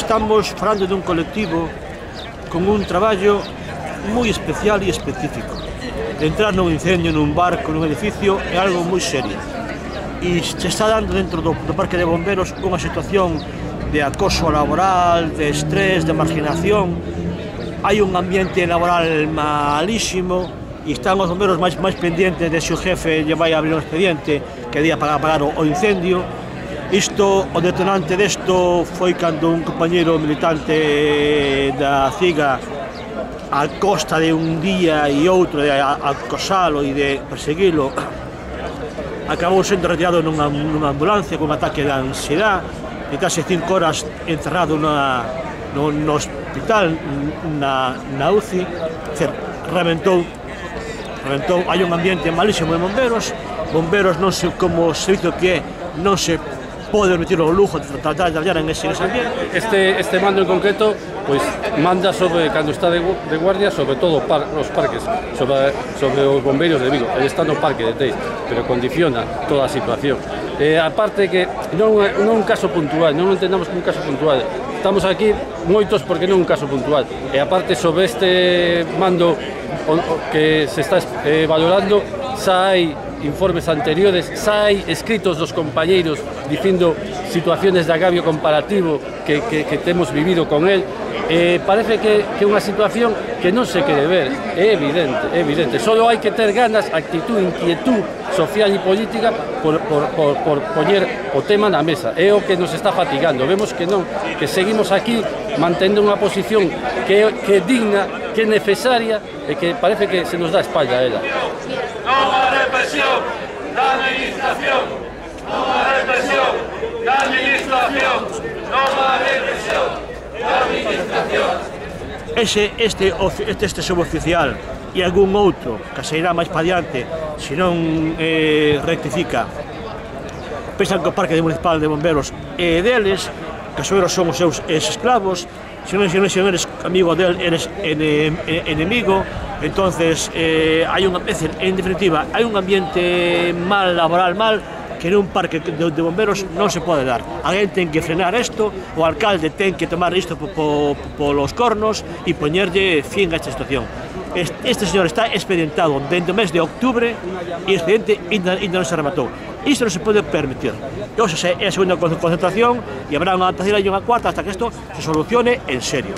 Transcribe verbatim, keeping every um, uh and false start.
estamos falando dun colectivo con un traballo moi especial e específico. Entrar nun incendio nun barco, nun edificio, é algo moi serio. E se está dando dentro do, do parque de bomberos unha situación de acoso laboral, de estrés, de marginación. Hai un ambiente laboral malísimo e están os bomberos máis, máis pendientes de se o jefe lle vai abrir un expediente que día para apagar o, o incendio. Isto, o detonante desto foi cando un compañeiro militante da CIGA, a costa de un día e outro de acosalo e de perseguilo, acabou sendo retirado nunha, nunha ambulancia con ataque de ansiedade e case cinco horas encerrado na, no, no hospital, na, na U C I. Dizer, reventou, reventou, hai un ambiente malísimo de bomberos, bomberos non se, como servicio que é, non se pode permitir o lujo de tratar de traballar en ese ambiente. Este, este mando en concreto pues, manda sobre, cando está de, de guardia, sobre todo par, os parques, sobre, sobre os bombeiros de Vigo. Ele está no parque de Teis, pero condiciona toda a situación. Eh, aparte que non é un caso puntual, non entendamos como un caso puntual. Estamos aquí moitos porque non é un caso puntual. E aparte sobre este mando que se está eh, valorando, xa hai informes anteriores, xa hai escritos dos compañeiros dicindo situaciones de agravio comparativo que, que, que temos vivido con él. Eh, parece que é unha situación que non se quere ver, é evidente, é evidente. Solo hai que ter ganas, actitud, inquietud social e política por, por, por, por poñer o tema na mesa. É o que nos está fatigando. Vemos que non, que seguimos aquí mantendo unha posición que, que é digna, que é necesaria e que parece que se nos dá a espalda a ela. Non a represión da administración, non a represión da administración, non a represión da administración. Ese, este, este, este suboficial e algún outro que se irá máis pa diante se non eh, rectifica, pensan que o parque municipal de bomberos é deles, que os bomberos son os seus esclavos. Se non, se non, se non eres amigo del, eres ene, enemigo. Entonces, eh, hai unha, en definitiva, hai un ambiente mal, laboral mal, que nun parque de, de bomberos non se pode dar. Alguén ten que frenar isto, o alcalde ten que tomar isto po, po, polos cornos e poñerlle fin a esta situación. Este, este señor está expedientado dentro do mes de octubre e o expediente ainda, ainda non se rematou. Isto non se pode permitir. E hoxe é a segunda concentración e habrá unha terceira e unha cuarta hasta que isto se solucione en serio.